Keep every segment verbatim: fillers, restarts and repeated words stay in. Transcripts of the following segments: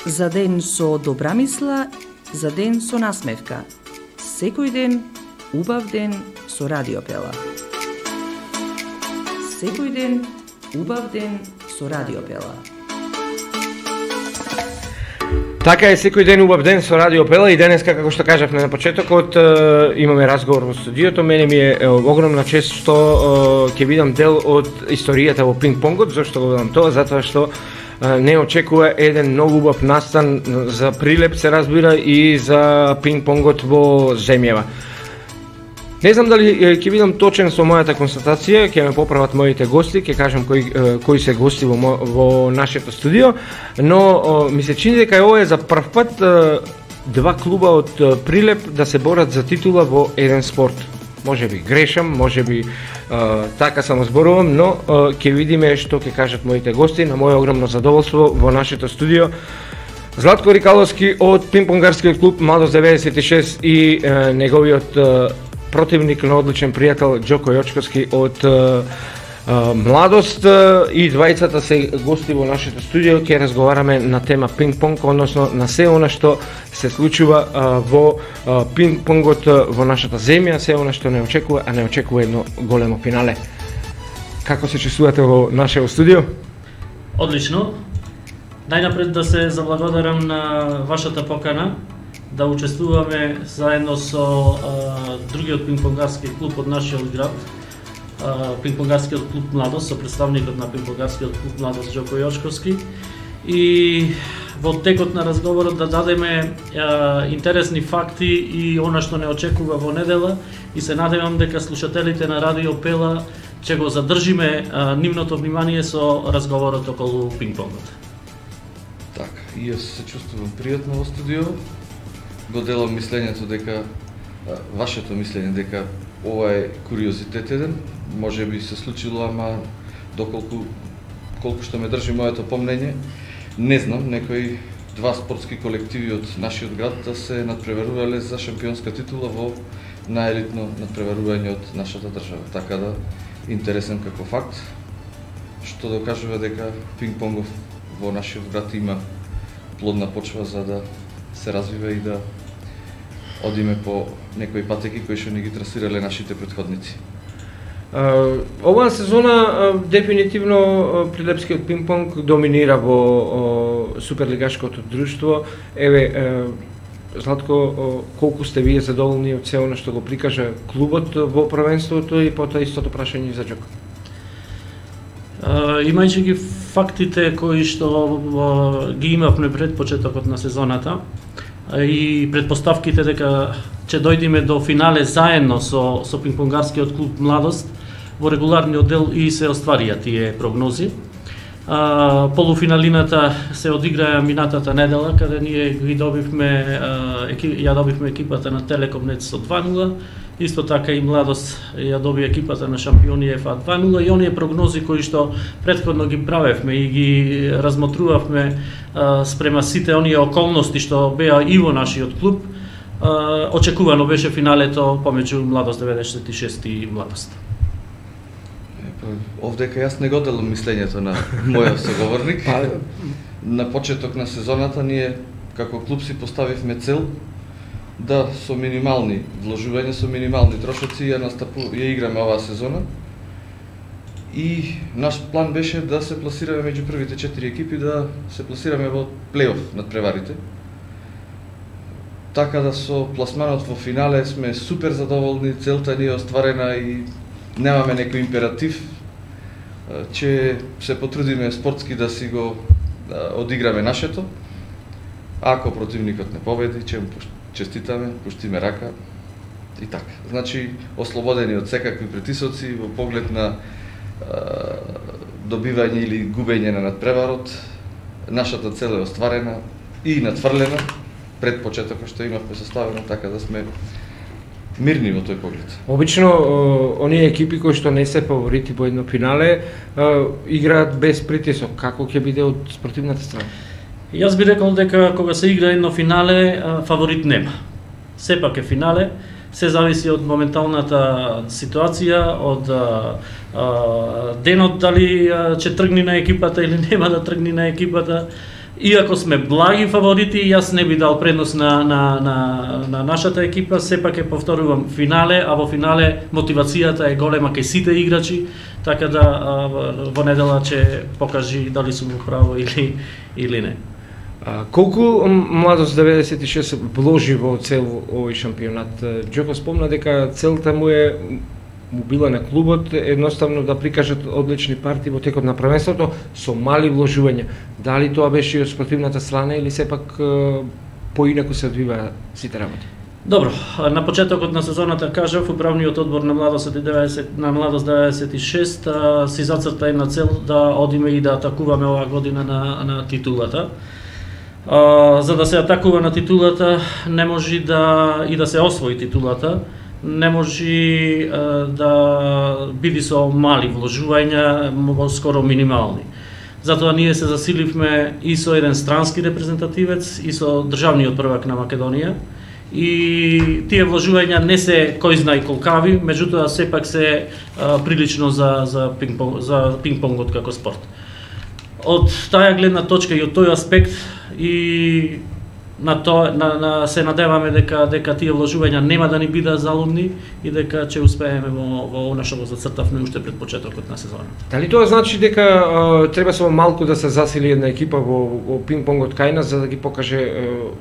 За ден со добра мисла, за ден со насмевка. Секој ден, убав ден со Радио Пела. Секој ден, убав ден со Радио Пела. Така е, секој ден убав ден со Радио Пела и денеска, како што кажавме на почетокот, имаме разговор во студиото. Мене ми е огромна чест што ќе видам дел од историјата во пинг-понгот. Зошто го видам тоа? Затоа што не очекува еден многу убав настан за Прилеп, се разбира, и за пинг-понгот во земјава. Не знам дали ќе видам точен со мојата констатација, ќе ме поправат моите гости, ќе кажам кои кои се гости во во нашето студио, но ми се чини дека ова е за прв пат два клуба од Прилеп да се борат за титула во еден спорт. Може би грешам, може би така само зборувам, но ќе видиме што ќе кажат моите гости. На моје огромно задоволство во нашето студио Златко Рикаловски од пинг-понгарскиот клуб Младост деветдесет и шест и неговиот противник на одличен пријател Џоко Јочковски од Младост, и двајцата се гости во нашето студио. Ќе разговараме на тема пинг-понг, односно на се она што се случува во пинг-понгот во нашата земја, се она што не очекува, а не очекува едно големо финале. Како се чувствувате во нашето студио? Одлично. Најнапред да се заблагодарам на вашата покана да учествуваме заедно со а, другиот пинг-понгарски клуб од нашиот град, пинг-понгарскиот клуб Младост, со представникот на пинг-понгарскиот клуб Младост Џоко Јочковски, и во текот на разговорот да дадеме а, интересни факти и она што не очекува во недела, и се надевам дека слушателите на Радио Пела ќе го задржиме а, нивното внимание со разговорот околу пинг-понгот. Така, и јас се чувствувам пријатно во студио. Го делам мислењето дека, вашето мислење дека ова е куриозитет еден, може би се случило, ама доколку колку што ме држи моето помнење, не знам, некои два спортски колективи од нашиот град да се надпреварувале за шампионска титула во најелитно надпреварување од нашата држава. Така да, интересен како факт, што докажува дека пинг-понгов во нашиот град има плодна почва за да се развива и да одиме по некои патеки кои што не ги трасирале нашите претходници. Uh, оваа сезона uh, дефинитивно uh, прилепскиот пинг-понг доминира во uh, суперлигашкото друштво. Еве, uh, Златко, uh, колку сте вие задоволни од се она што го прикажа клубот во првенството, и потоа истото прашање за Џоко? Uh, имајќи ги фактите кои што uh, ги имавме пред почетокот на сезоната и предпоставките дека ќе дојдеме до финале заедно со со пинг-понгарскиот клуб Младост во регуларниот дел, и се остварија тие прогнози. А, полуфиналината се одиграа минатата недела, каде ние ги добивме а, еки, ја добивме екипата на Телекомнет со два нула. Исто така и Младост ја доби екипата на шампиони ЕФА два нула, и оние прогнози кои што претходно ги правевме и ги размотрувавме а, спрема сите оние околности што беа и во нашиот клуб, а, очекувано беше финалето помеѓу Младост деветдесет и шест и Младост. Овдека јас не го делам мислењето на мојот соговорник. На почеток на сезоната ние како клуб си поставивме цел да со минимални вложувања, со минимални трошоци ја настапу, ја играме оваа сезона. И наш план беше да се пласираме меѓу првите четири екипи, да се пласираме во плейоф над преварите. Така да со пласманот во финале сме супер задоволни, целта ни е остварена и немаме некој императив, че се потрудиме спортски да си го да одиграме нашето. Ако противникот не победи, ќе му честитаме, пуштиме рака и така. Значи, ослободени од секакви притисоци во поглед на а, добивање или губење на надпреварот, нашата цел е остварена и надфрлена пред почетокот што имавме составено, така да сме мирни во тој поглед. Обично, оние екипи кои што не се фаворити во едно финале, играат без притисок. Како ќе биде од спортивната страна? Јас би рекол дека кога се игра едно финале, фаворит нема. Сепак е финале, се зависи од моменталната ситуација, од а, а, денот дали ќе тргне на екипата или нема да тргне на екипата. Иако сме благи фаворити, јас не би дал предност на, на, на, на нашата екипа, сепак е повторувам финале, а во финале мотивацијата е голема кај сите играчи, така да а, во недела ќе покажи дали сум во право или, или не. А, колку Младост деветдесет и шест вложи во цел овој шампионат? Џоко спомна дека целта му е му била на клубот едноставно да прикажат одлични партии во текот на првенството со мали вложувања. Дали тоа беше од спортивната страна или сепак поинаку се одвива сите работи? Добро, на почетокот на сезоната кажав, управниот одбор на Младост деветдесет на Младост деветдесет и шест а, си зацрта една цел да одиме и да атакуваме оваа година на, на титулата. А, за да се атакува на титулата, не може да и да се освои титулата, не може а, да биде со мали вложувања, скоро минимални. Затоа ние се засиливме и со еден странски репрезентативец и со државниот првак на Македонија. И тие вложувања не се кој знае колкави, меѓутоа сепак се а, прилично за за пинг-понг, за пинг-понгот како спорт. Од таа гледна точка и од тој аспект и на тоа на, на се надеваме дека дека тие вложувања нема да ни бидат залудни и дека ќе успееме во во она што го зацртавме уште пред почетокот на сезоната. Дали тоа значи дека а, треба само малку да се засили една екипа во, во пинг-понгот кај нас за да ги покаже а,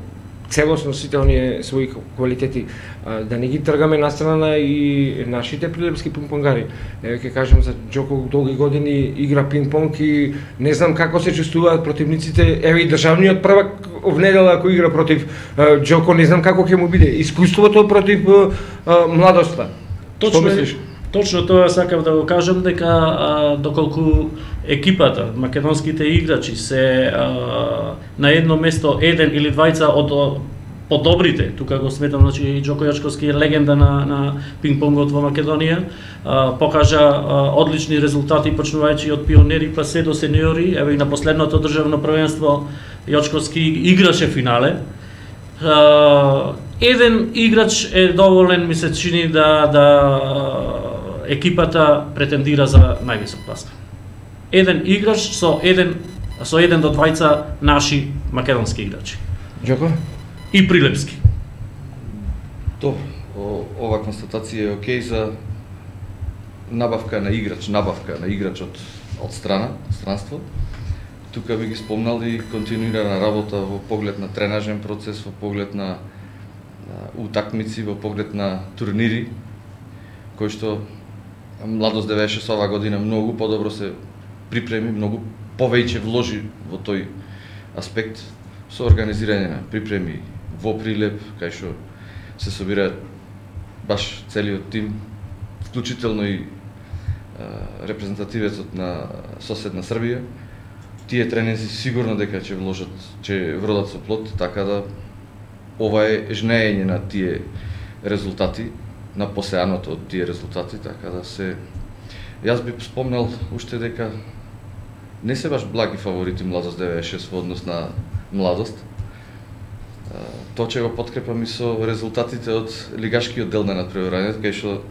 целосно сите оние своји квалитети, а, да не ги тргаме на страна и нашите прилепски пинг-понгари. Еве ќе кажам за Џоко долги години игра пинг-понг и не знам како се чувствуваат противниците. Еве и државниот првак в недела ако игра против а, Џоко, не знам како ќе му биде искуството против а, Младоста. Точно Точно тоа сакав да го кажам, дека а, доколку екипата, македонските играчи се а, на едно место еден или двајца од подобрите, тука го сметам, значи Џоко Јачковски е легенда на, на пинг-понгот во Македонија, а, покажа а, одлични резултати почнувајќи од пионери па се до сениори, еве и на последното државно првенство Јачковски играше финале. А, еден играч е доволен, ми се чини да да екипата претендира за највисок пласт. Еден играч со еден со еден до двајца наши македонски играчи. Џоко? И прилепски. Добро, ова констатација е окей за набавка на играч, набавка на играч од од страна, странство. Тука би ги спомнал и континуирана работа во поглед на тренажен процес, во поглед на, на утакмици, во поглед на турнири, кои што Младост деветдесет и шест оваа година многу подобро се припреми, многу повеќе вложи во тој аспект со организирање на припреми во Прилеп, кај што се собираат баш целиот тим, вклучително и а, репрезентативецот на соседна Србија. Тие тренинзи сигурно дека ќе вложат, ќе вродат со плод, така да ова е жнеење на тие резултати, на посеаното од тие резултати, така да се... Јас би спомнал уште дека не се баш благи фаворити Младост деветдесет и шест во однос на Младост. Тоа ќе го подкрепам и со резултатите од лигашкиот дел на надпреварањето, кај што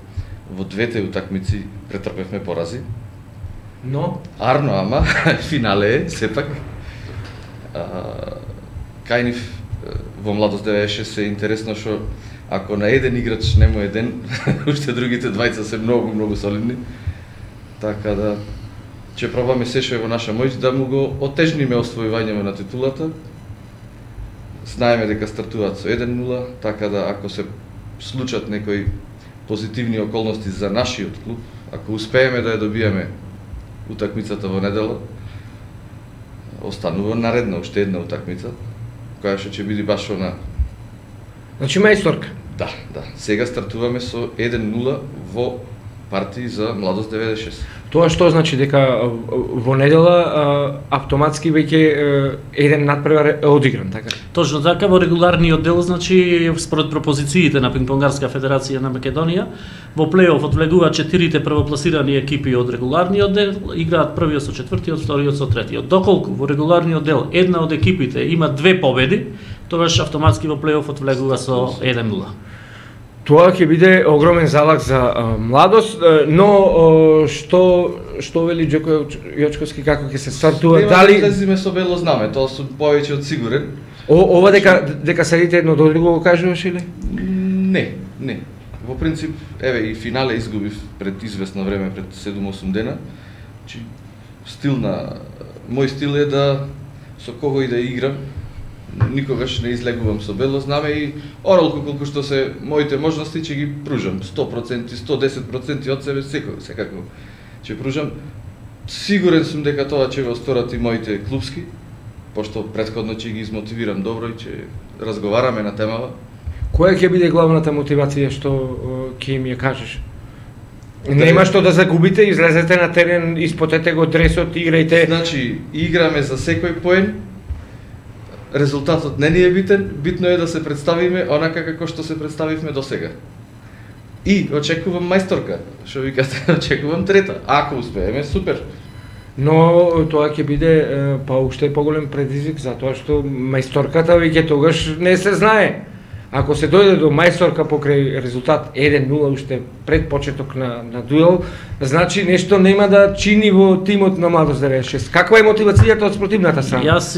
во двете утакмици претрпевме порази. Но Арно, ама финале е сепак. Кај нив во Младост деветдесет и шест е интересно што ако на еден играч нему еден, уште другите двајца се многу, многу солидни. Така да, ќе пробаме се што е во наша моќ да му го отежниме освојувањето на титулата. Знаеме дека стартуваат со еден нула, така да ако се случат некои позитивни околности за нашиот клуб, ако успееме да ја добиеме утакмицата во недела, останува наредна уште една утакмица, која што ќе биде баш она. Значи мајсторка. Да, да. Сега стартуваме со еден нула во партии за Младост деветдесет и шест. Тоа што значи дека во недела автоматски веќе еден надпревар е одигран, така? Точно така, во регуларниот дел, значи според пропозициите на Пинг-понгарска федерација на Македонија, во плей-оф влегуваат четирите првопласирани екипи од регуларниот дел, играат првиот со четвртиот, вториот со третиот. Доколку во регуларниот дел една од екипите има две победи, тогаш автоматски во плей-офот влегува со еден нула. Тоа ќе биде огромен залог за а, младост, но а, што што вели Џоко Јочковски како ќе се стартува, дали излезиме со бело знаме, тоа сум повеќе од сигурен. О, ова дека дека седите едно до друго го кажуваш или? Не, не. Во принцип, еве и финале изгубив пред известно време, пред седум-осум дена. Чи стил на мој стил е да со кого и да играм, никогаш не излегувам со бело знаме и оролку колку што се моите можности ќе ги пружам, сто проценти, сто десет проценти од себе секој, секако ќе пружам. Сигурен сум дека тоа ќе го сторат и моите клубски, пошто претходно ќе ги измотивирам добро и ќе разговараме на темава. Која ќе биде главната мотивација што ќе им ја кажеш? Нема што да загубите, излезете на терен, испотете го дресот, играјте. Значи, играме за секој поен. Резултатот не ни е битен, битно е да се представиме онака како што се представивме досега. И очекувам мајсторка, што викате, очекувам трета. Ако успееме, супер. Но тоа ќе биде па уште поголем предизвик, затоа што мајсторката веќе тогаш не се знае. Ако се дојде до мајсторка покрај резултат еден нула уште пред почеток на, на дуел, значи нешто нема да чини во тимот на Младост деветдесет и шест. Каква е мотивацијата од спротивната страна? Јас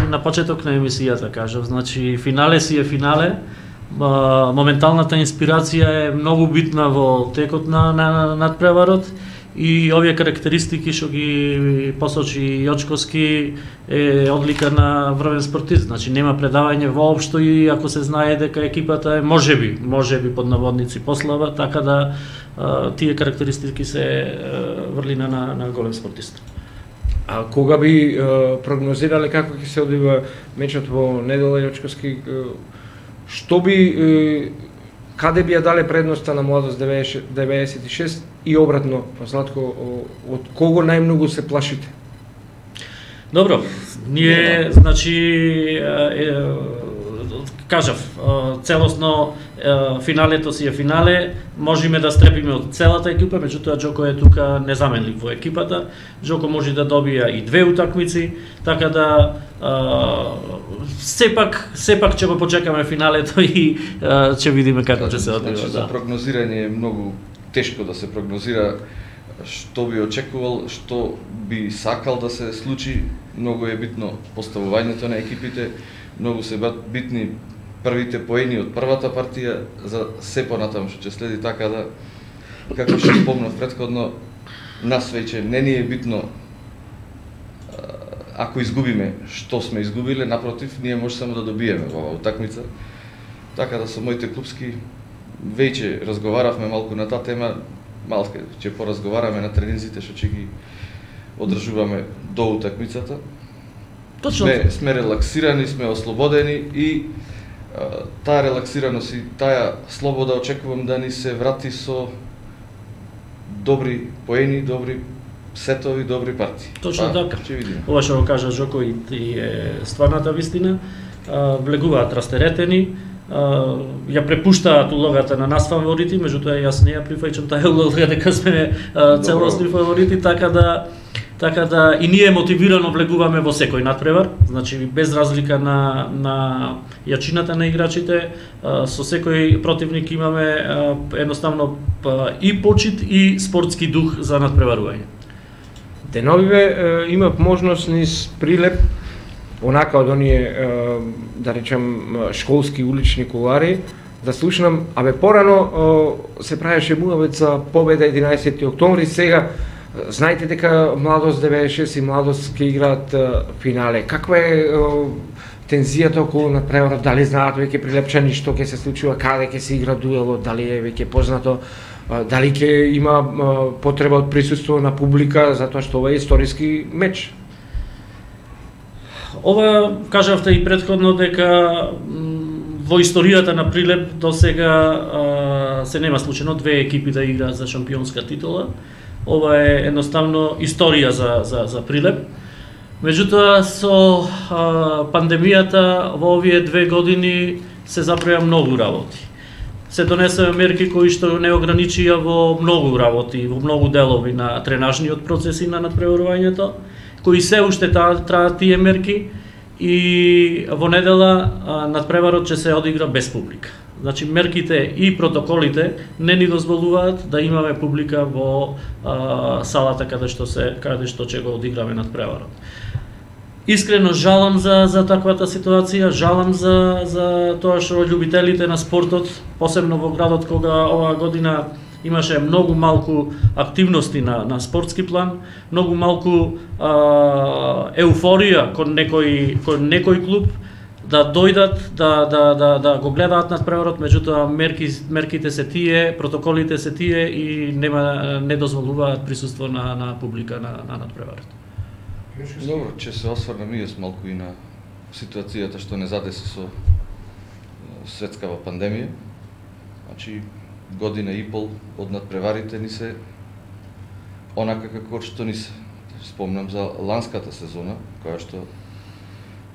на почеток на емисијата кажав, значи финале си е финале, моменталната инспирација е многу битна во текот на, на надпреварот и овие карактеристики што ги посочи Јочковски е одлика на врвен спортист, значи нема предавање воопшто и ако се знае дека екипата е можеби, можеби под наводници послаба, така да а, тие карактеристики се а, врлина на, на голем спортист. А кога би а, прогнозирале како ќе се одвива мечот во недела Јочковски, што би каде би ја дале предноста на Младост деветдесет и шест и обратно, Златко, од кого најмногу се плашите? Добро, ние, значи, е, кажав, целосно финалето си е финале, можеме да стрепиме од целата екипа, меѓутоа Џоко е тука незаменлив во екипата. Џоко може да добија и две утакмици, така да а, сепак сепак ќе го почекаме финалето и а, ќе видиме како ќе се одвива. Значи, за прогнозирање е многу тешко да се прогнозира што би очекувал, што би сакал да се случи. Многу е битно поставувањето на екипите, многу се битни првите поени од првата партија за се понатаму што ќе следи, така да, како што спомнав претходно, нас веќе не ни е битно ако изгубиме што сме изгубиле, напротив, ние може само да добиеме во оваа утакмица. Така да со моите клубски веќе разговаравме малку на таа тема, малку ќе поразговараме на тренинзите што ќе ги одржуваме до утакмицата. Точно. Сме, сме релаксирани, сме ослободени и а, таа релаксираност и таа слобода очекувам да ни се врати со добри поени, добри сетови, добри партии. Точно па, така. Ќе видиме. Ова што го кажа Џоко и, и е стварната вистина. А, влегуваат растеретени, а, ја препуштаат улогата на нас фаворити, меѓутоа јас не ја прифаќам таа улога дека сме а, целосни фаворити, така да така да и ние мотивирано влегуваме во секој надпревар, значи без разлика на на јачината на играчите, а, со секој противник имаме а, едноставно а, и почит и спортски дух за надпреварување. Деновиве имав можност низ Прилеп, онака од оние, да речем, школски улични кулари, да слушнам, абе порано се правеше муавет за победа единаесети октомври, сега знаете дека Младост деветдесет и шест и Младост ќе играат финале. Каква е тензијата околу надпреварот? Дали знаат веќе прилепчани што ќе се случува, каде ќе се игра дуелот, дали е веќе познато, дали ќе има потреба од присуство на публика, затоа што ова е историски меч? Ова кажавте и претходно дека во историјата на Прилеп до сега се нема случајно две екипи да играат за шампионска титула. Ова е едноставно историја за за за Прилеп. Меѓутоа со а, пандемијата во овие две години се заправија многу работи. Се донесоа мерки кои што не ограничија во многу работи, во многу делови на тренажниот процес и на надпреварувањето, кои се уште траат тие мерки и во недела надпреварот ќе се одигра без публика. Значи мерките и протоколите не ни дозволуваат да имаме публика во а, салата каде што се каде што ќе го одиграме надпреварот. Искрено жалам за за таквата ситуација, жалам за за тоа што љубителите на спортот, посебно во градот кога оваа година имаше многу малку активности на на спортски план, многу малку а, еуфорија кон некој кон некој клуб да дојдат да да да да го гледаат надпреварот, меѓутоа мерки мерките се тие, протоколите се тие и нема не дозволуваат присуство на на публика на на надпреварот. Добро, ќе се осврнам и јас малку и на ситуацијата што не задеси со светскава пандемија. Значи година и пол од надпреварите ни се онака како што ни се. Спомнам за ланската сезона, која што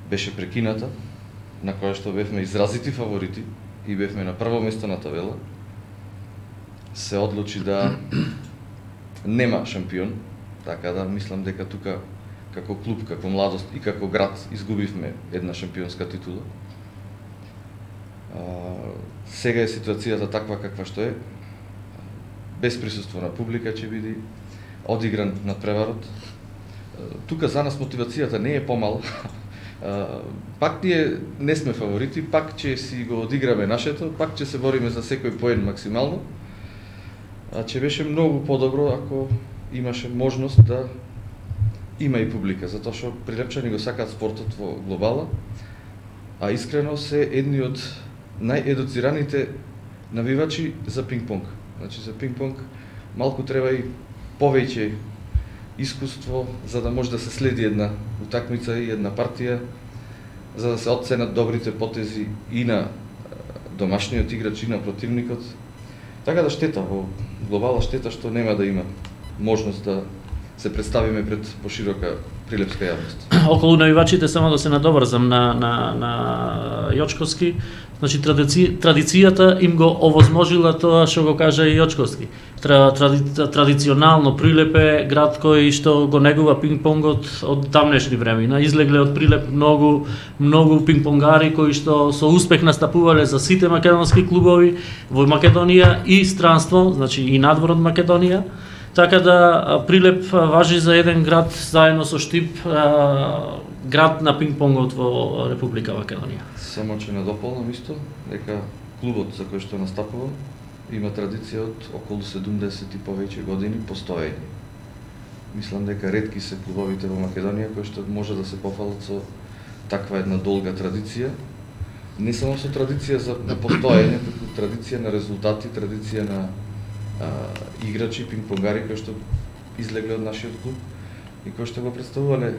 беше прекината, на која што бевме изразити фаворити и бевме на прво место на табела. Се одлучи да нема шампион, така да мислам дека тука како клуб, како младост и како град изгубивме една шампионска титула. А, сега е ситуацијата таква каква што е. Без присуство на публика ќе биде одигран надпреварот. Тука за нас мотивацијата не е помала. Пак ние не сме фаворити, пак ќе си го одиграме нашето, пак ќе се бориме за секој поен максимално. А ќе беше многу подобро ако имаше можност да има и публика, затоа што Прилепчани го сакаат спортот во глобала, а искрено се едни од наједуцираните навивачи за пинг-понг. Значи за пинг-понг малку треба и повеќе искуство за да може да се следи една утакмица и една партија, за да се оценат добрите потези и на домашниот играч и на противникот. Така да штета во глобала, штета што нема да има можност да се представиме пред поширока прилепска јавност. Околу навивачите само да се надоврзам на на на Јочковски, значи традици, традицијата им го овозможила тоа што го кажа и Јочковски. Тра, тради, традиционално Прилеп е град кој што го негува пинг-понгот од тамнешни времена. Излегле од Прилеп многу многу пинг-понгари кои што со успех настапувале за сите македонски клубови во Македонија и странство, значи и надвор од Македонија. Така да Прилеп важи за еден град заедно со Штип, град на пинг-понгот во Република Македонија. Само ќе надополнам исто дека клубот за кој што настапува има традиција од околу седумдесет и повеќе години постоење. Мислам дека ретки се клубовите во Македонија кои што може да се пофалат со таква една долга традиција. Не само со традиција за на постоење, туку традиција на резултати, традиција на а, играчи, пинг-понгари кои што излегле од нашиот клуб и кои што го представувале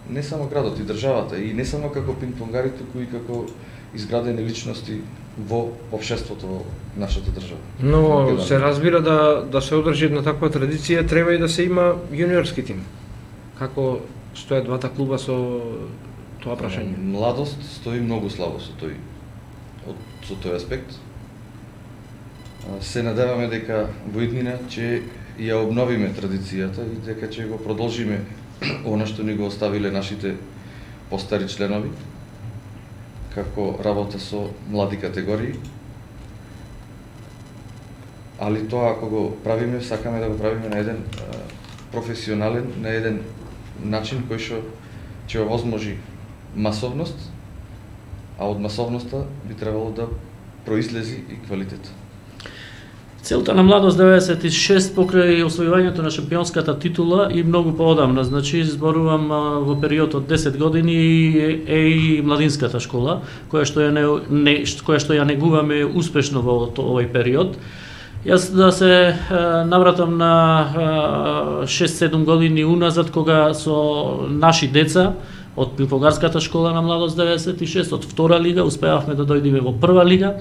не само градот и државата, и не само како пинг-понгари, туку и како изградени личности во општеството во нашата држава. Но се разбира да да се одржи една таква традиција, треба и да се има јуниорски тим. Како стојат двата клуба со тоа прашање? Младост стои многу слабо со тој од со тој аспект. Се надеваме дека во иднина ќе ја обновиме традицијата и дека ќе го продолжиме она што ни го оставиле нашите постари членови, како работа со млади категории. Али тоа ако го правиме, сакаме да го правиме на еден а, професионален, на еден начин кој што ќе овозможи масовност, а од масовноста би требало да произлези и квалитет. Целта на Младост деветдесет и шест покрај освојувањето на шампионската титула и многу поодамна, значи зборувам во период од десет години е и младинската школа, која што ја не, не која што ја негуваме успешно во овој период. Јас да се навратам на шест-седум години уназад кога со наши деца од пинг-понгарската школа на Младост деветдесет и шест од втора лига успеавме да дојдеме во прва лига.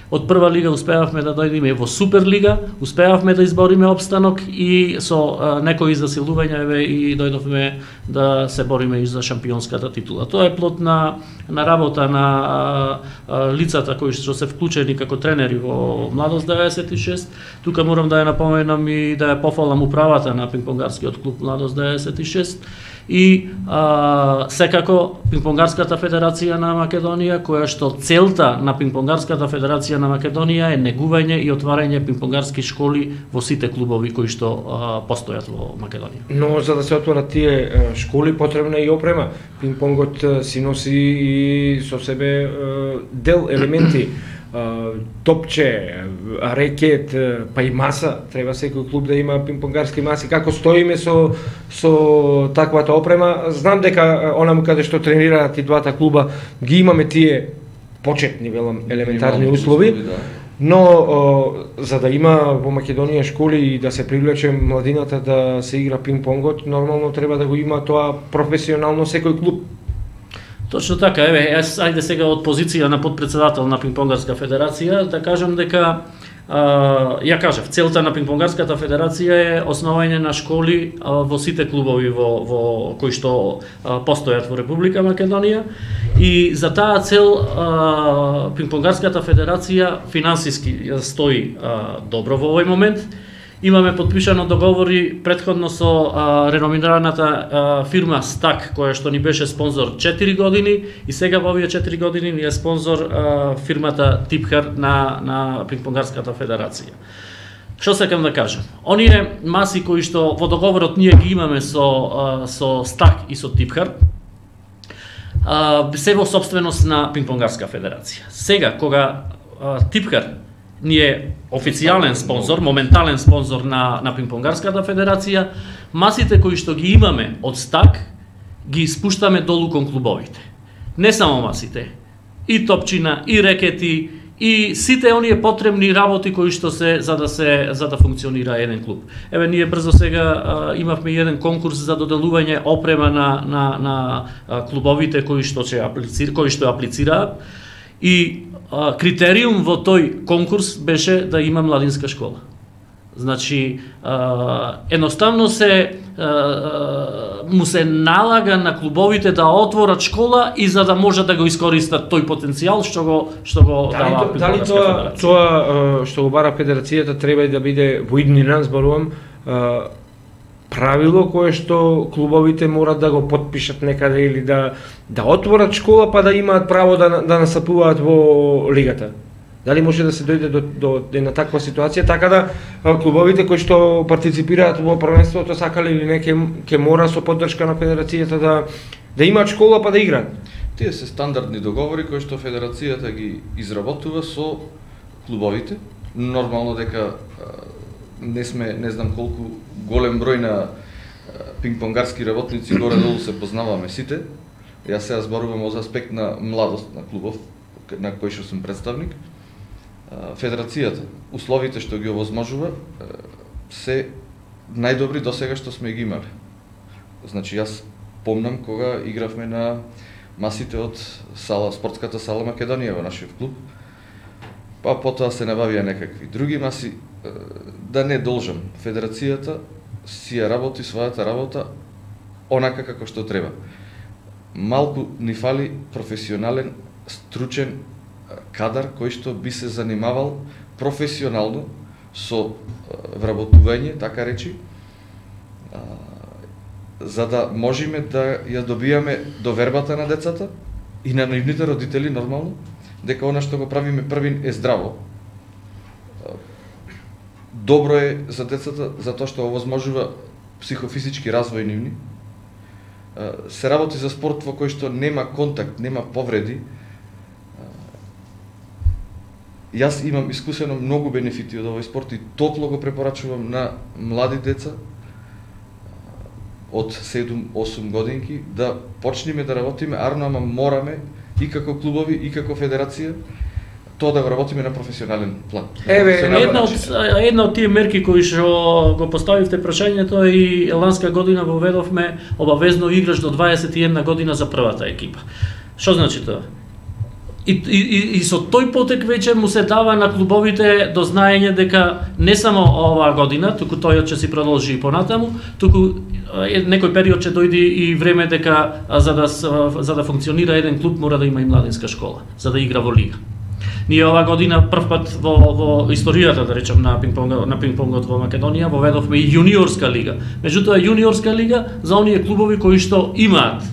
Од прва лига успеавме да дојдеме во Суперлига, успеавме да избориме опстанок и со а, некои засилувања еве и дојдовме да се бориме и за шампионската титула. Тоа е плод на на работа на а, а, лицата кои што се вклучени како тренери во Младост деветдесет и шест. Тука морам да ја напоменам и да ја пофалам управата на пинг-понгарскиот клуб Младост деветдесет и шест И а, секако Пингпонгарската федерација на Македонија, која што целта на Пингпонгарската федерација на Македонија е негување и отварање пингпонгарски школи во сите клубови кои што а, постојат во Македонија. Но за да се отворат тие школи потребна е и опрема. Пингпонгот си носи и со себе дел елементи, топче, рекет, па и маса. Треба секој клуб да има пингпонгарски маси. Како стоиме со со таквата опрема? Знам дека онаму каде што тренираат и двата клуба ги имаме тие почетни, велам, елементарни услови. Да. Но о, за да има во Македонија школи и да се привлече младината да се игра пинг-понгот, нормално треба да го има тоа професионално секој клуб. Точно така, еве, јас ајде сега од позиција на подпредседател на Пингпонгарска федерација да кажам дека а, ја кажав, целта на Пингпонгарската федерација е основање на школи а, во сите клубови во, во кои што а, постојат во Република Македонија и за таа цел а, Пингпонгарската федерација финансиски стои а, добро во овој момент. Имаме подпишано договори претходно со а, реномираната а, фирма Стак, која што ни беше спонзор четири години и сега во овие четири години ни е спонзор а, фирмата Типхар на, на Пингпонгарската федерација. Што сакам да кажам? Оние маси кои што во договорот ние ги имаме со, а, со Стак и со Типхар, а, се во собственост на Пингпонгарска федерација. Сега, кога а, Типхар ни е официјален спонзор, моментален спонзор на, на Пингпонгарската федерација, масите кои што ги имаме од Стак, ги спуштаме долу кон клубовите. Не само масите, и топчина, и рекети, и сите оние потребни работи кои што се за да се за да функционира еден клуб. Еве ние брзо сега а, имавме еден конкурс за доделување опрема на на на а, клубовите кои што ќе аплицира, кои што аплицираат. И а, критериум во тој конкурс беше да има младинска школа. Значи, а, едноставно се а, му се налага на клубовите да отворат школа и за да може да го искористат тој потенцијал што го што го дали, дава дали тоа тоа што го бара федерацијата треба и да биде во иднина, зборувам, правило кое што клубовите морат да го потпишат некаде или да да отворат школа па да имаат право да да настапуваат во лигата. Дали може да се дојде до до една таква ситуација така да клубовите кои што партиципираат во првенството сакале или не ќе мора со поддршка на федерацијата да да имаат школа па да играат. Тие се стандардни договори кои што федерацијата ги изработува со клубовите. Нормално дека не сме, не знам колку голем број на пингпонгарски работници горе-долу се познаваме сите. Јас сега зборувам од аспект на младост на клубов, на кој што сум представник. Федерацијата, условите што ги овозможува, се најдобри до сега што сме ги имале. Значи, јас помнам кога игравме на масите од сала, спортската сала Македонија во нашиот клуб, па потоа се набавија некакви други маси. Да не должам, федерацијата си ја работи својата работа онака како што треба. Малку ни фали професионален, стручен кадар кој што би се занимавал професионално со вработување, така речи, за да можеме да ја добијаме довербата на децата и на нивните родители нормално, дека она што го правиме првин е здраво. Добро е за децата затоа што овозможува психофизички развој нивни. Се работи за спорт во кој што нема контакт, нема повреди. Јас имам искусено многу бенефити од овој спорт и топло го препорачувам на млади деца од седум-осум годинки да почнеме да работиме арно, ама мораме и како клубови и како федерација тоа да го работиме на професионален план. Еве, една од една од тие мерки кои што го поставивте прашањето и ланска година воведовме обавезно играш до дваесет и една година за првата екипа. Што значи тоа? И, и, и со тој потек веќе му се дава на клубовите до знаење дека не само оваа година, туку тој ќе си продолжи и понатаму, туку некој период ќе дојде и време дека за да за да функционира еден клуб мора да има и младинска школа, за да игра во лига. Ние ова година прв пат во во историјата, да речем, на пинг-понг на пинг-понгот во Македонија воведовме и јуниорска лига. Меѓутоа јуниорска лига за оние клубови кои што имаат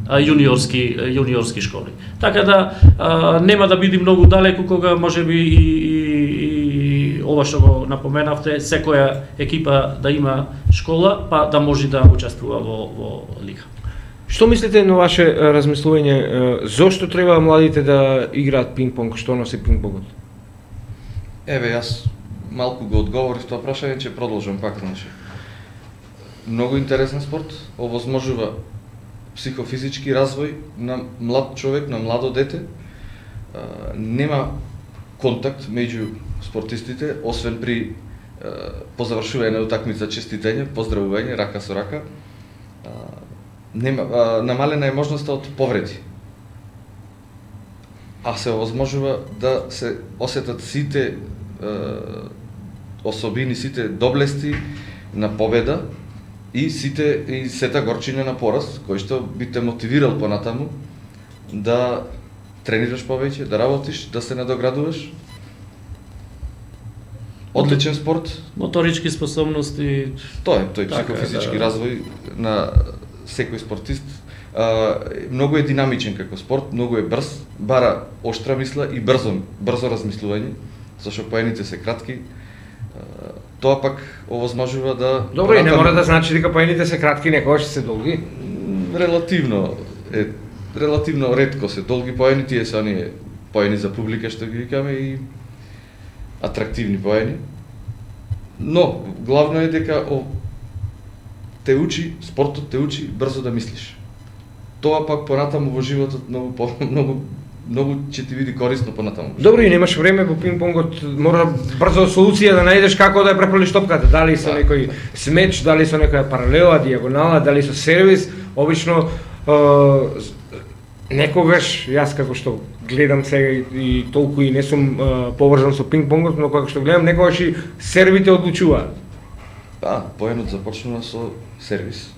јуниорски јуниорски школи. Така да а, нема да биде многу далеку кога можеби и, и, и ова што го напоменавте, секоја екипа да има школа, па да може да учествува во во лига. Што мислите на ваше размислување, зошто треба младите да играат пинг-понг, што носи пинг-понгот? Еве, јас малку го одговорив тоа прашање, ќе продолжам пак, значи. Многу интересен спорт, овозможува психофизички развој на млад човек, на младо дете. Нема контакт меѓу спортистите, освен при по завршување на утакмица честитење, поздравување, рака со рака. Нема, а, намалена е можноста од повреди. А се овозможува да се осетат сите е, особини, сите доблести на победа и сите и сета горчина на пораз, кој што би те мотивирал понатаму да тренираш повеќе, да работиш, да се надоградуваш. Одличен спорт. Моторички способности. Тоа е, тој така, психофизички да. развој на секој спортист. А, многу е динамичен како спорт, многу е брз, бара оштра мисла и брзо, брзо размислување, зашто поените се кратки. А, тоа пак овозможува да... Добро, и не мора да значи дека поените се кратки, некогаш се долги. Релативно е, релативно ретко се долги поени, тие се оние поени за публика што ги викаме и атрактивни поени. Но главно е дека о, те учи, спортот те учи брзо да мислиш. Тоа пак понатаму во животот многу по, многу многу ќе ти биде корисно понатаму. Добро, и немаш време во пинг-понгот, мора брзо солуција да најдеш како да ја префрлиш топката, дали со некој смеч, дали со некоја паралела, дијагонала, дали со сервис. Обично е, некогаш јас како што гледам сега и, и толку и не сум е, поврзан со пинг-понгот, но како што гледам некогаш и сервите одлучуваат. Да, поенот започнува со сервис.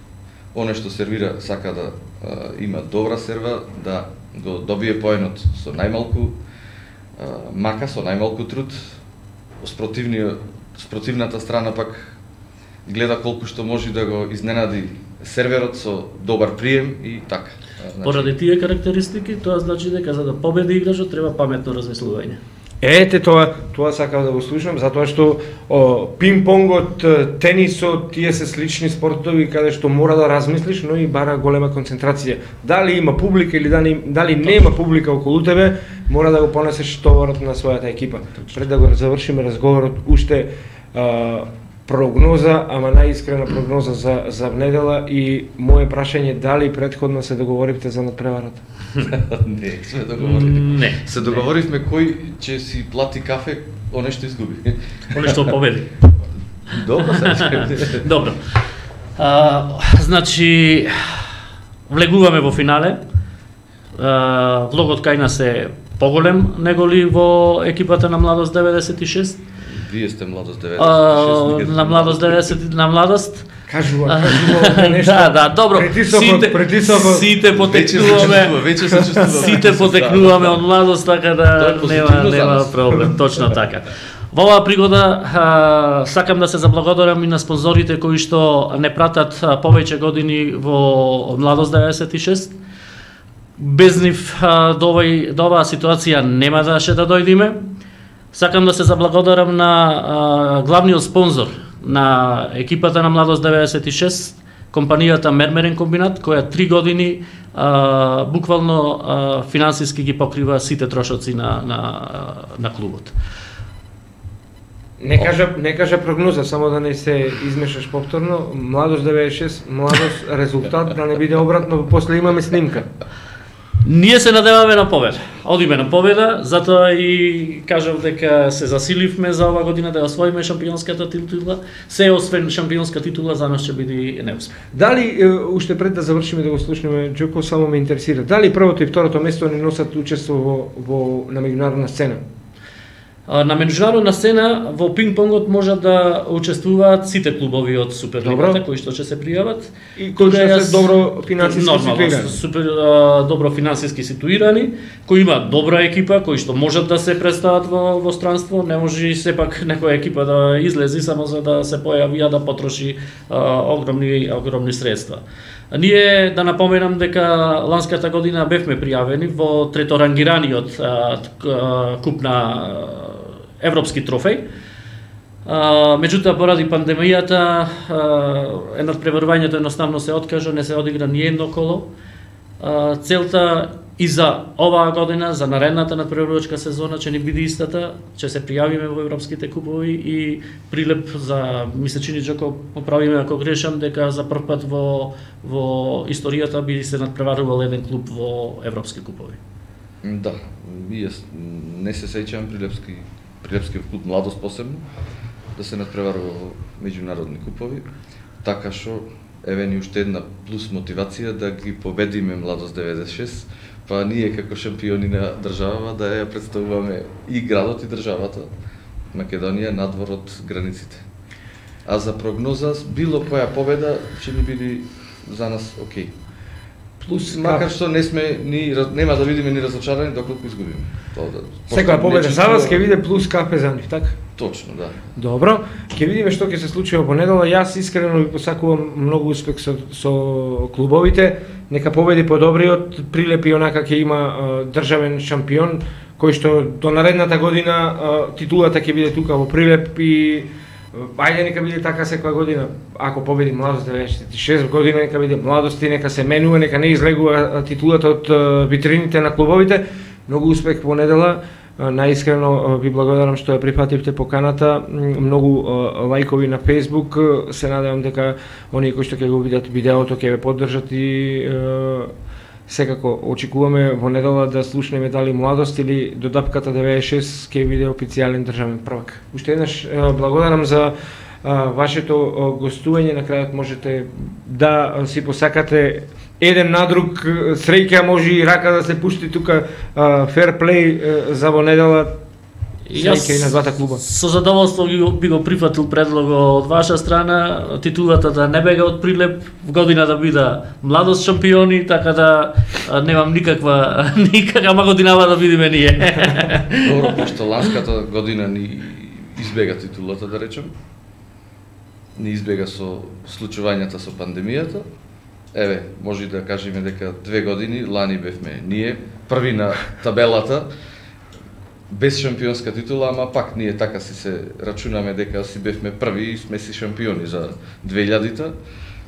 Оне што сервира сака да а, има добра серва, да го добие поенот со најмалку а, мака, со најмалку труд. Спротивната страна пак гледа колку што може да го изненади серверот со добар прием и така. Значи... Поради тие карактеристики, тоа значи дека за да победи играчот треба паметно размислување. Ете тоа, тоа сакам да го слушам, затоа што о, пинг-понгот, тенисот, тие се слични спортови каде што мора да размислиш, но и бара голема концентрација. Дали има публика или дали, дали нема публика околу тебе, мора да го понесеш товарот на својата екипа. Пред да го завршиме разговорот, уште а, прогноза, ама најискрена прогноза за, за недела и моје прашање дали претходно се договоривте за надпреварата? Не, сме договорили. Не. Се договоривме кој ќе си плати кафе, оне што изгуби. Оне што победи. Добро, сега. Добро. А, значи, влегуваме во финале. А, влогот кај нас е поголем неголи во екипата на Младост деветдесет и шест. Вие сте Младост деветдесет и шест. На Младост деветдесет на Младост. Кажува, кажува нешто. Да, да, добро. Притисокот, сите, притисокот. Сите потекнуваме. Веќе се чувствува. Сите потекнуваме од Младост, така да нема нема проблем. Точно така. Во оваа пригода а, сакам да се заблагодарам и на спонзорите кои што не пратат а, повеќе години во Младост деветдесет и шест. Без нив а, до, овај, до оваа ситуација нема да ше да дојдеме. Сакам да се заблагодарам на а, главниот спонзор на екипата на Младост деветдесет и шест, компанијата Мермерен комбинат, која три години а, буквално а, финансиски ги покрива сите трошоци на, на, на клубот. Не кажа, не кажа прогноза, само да не се измешаш повторно. Младост деветдесет и шест, Младост резултат, да не биде обратно, после имаме снимка. Ние се надеваме на победа. Одиме на победа, затоа и кажав дека се засиливме за ова година да освоиме шампионската титула. Се освен шампионска титула за нас ќе биде неуспех. Дали, уште пред да завршиме да го слушнеме, Џоко, само ме интересира, дали првото и второто место не носат учество во, во на меѓународна сцена? На меѓународна сцена во пинг-понгот може да учествуваат сите клубови од Суперлигата кои што ќе се пријават и кои што се добро финансиски ситуирани. Супер добро финансиски ситуирани, кои имаат добра екипа, кои што можат да се представат во во странство, не може сепак некоја екипа да излези само за да се појави а да потроши а, огромни огромни средства. Ние да напоменам дека ланската година бевме пријавени во треторангираниот а, куп на европски трофеј. А, меѓутоа поради пандемијата а, надпреварувањето едноставно се откажа, не се одигра ни едно коло. А, целта и за оваа година, за наредната надпреварувачка сезона ќе ни биде истата, ќе се пријавиме во европските купови и прилеп за мисечини Джоко поправиме ако грешам дека за прв пат во во историјата би се надпреварувал еден клуб во европски купови. Да, јас не се сеќавам Прилепски Прилепски клуб Младост посебно да се надпреварува во меѓународни купови, така што еве ни уште една плюс мотивација да ги победиме Младост деветдесет и шест, па ние како шампиони на државава да ја представуваме и градот и државата Македонија надвор од границите. А за прогноза било која победа ќе ни биде за нас окей. Плюс макар што не сме ни нема да видиме ни разочарани доколку изгубиме. Да, секоја победа за вас ќе биде плюс капе за нив, така? Точно, да. Добро, ќе видиме што ќе се случи во понедела. Јас искрено ви посакувам многу успех со, со клубовите. Нека победи подобриот, Прилеп и онака ќе има а, државен шампион, кој што до наредната година а, титулата ќе биде тука во Прилеп и ајде нека биде така секоја година. Ако победи Младост деветдесет и шест година, нека биде Младости, нека се менува, нека не излегува титулата од витрините на клубовите. Многу успех во недела. Наискрено ви благодарам што ја прифативте поканата. Многу лајкови на Facebook. Се надевам дека оние кои што ќе го видат видеото ќе ве поддржат и секако очекуваме во недела да слушнеме дали Младост или до дапката деветдесет и шест ќе биде официјален државен првак. Уште еднаш благодарам за вашето гостување. На крајот можете да си посакате еден на друг среќа, може и рака да се пушти тука фер плей за во недела. Среќа и на двата клуба. Со задоволство би го прифатил предлогот од ваша страна, титулата да не бега од Прилеп, в година да биде Младост шампиони, така да немам никаква никаква годинава да бидеме ние. Добро, пошто ланската година ни избега титулата, да речем. Ни избега со случувањата со пандемијата. Еве, може да кажеме дека две години лани бевме ние први на табелата без шампионска титула, ама пак ние така си се рачунаме дека си бевме први и сме си шампиони за две илјадите.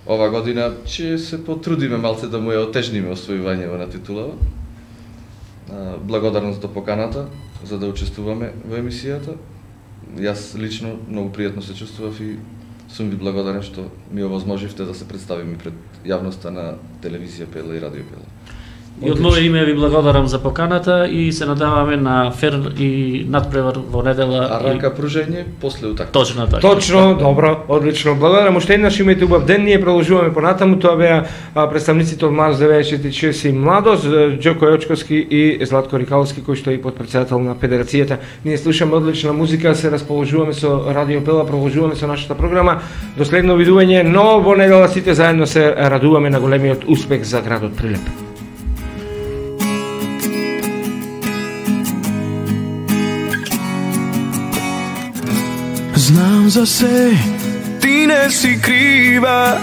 Ова година ќе се потрудиме малце да му ја отежниме освојувањето на титулава. Благодарност до поканата за да учествуваме во емисијата. Јас лично многу пријатно се чувствував и сум ви благодарен што ми овозможивте да се представиме пред јавноста на телевизија Пела и радио Пела. И од мое име ви благодарам за поканата и се надеваме на фер и надпревар во недела. А рака пружење после утакмица. Точно така. Точно, добро, одлично. Благодарам уште еднаш, имајте убав ден. Ние продолжуваме понатаму. Тоа беа представниците од Младост деветдесет и шест и Младост, Џоко Јочковски и Златко Рикаловски, кој што е потпредседател на федерацијата. Ние слушаме одлична музика, се расположуваме со радио Пела, продолжуваме со нашата програма. До следно видување, но во недела сите заедно се радуваме на големиот успех за градот Прилеп. Знам за се, ти не си крива,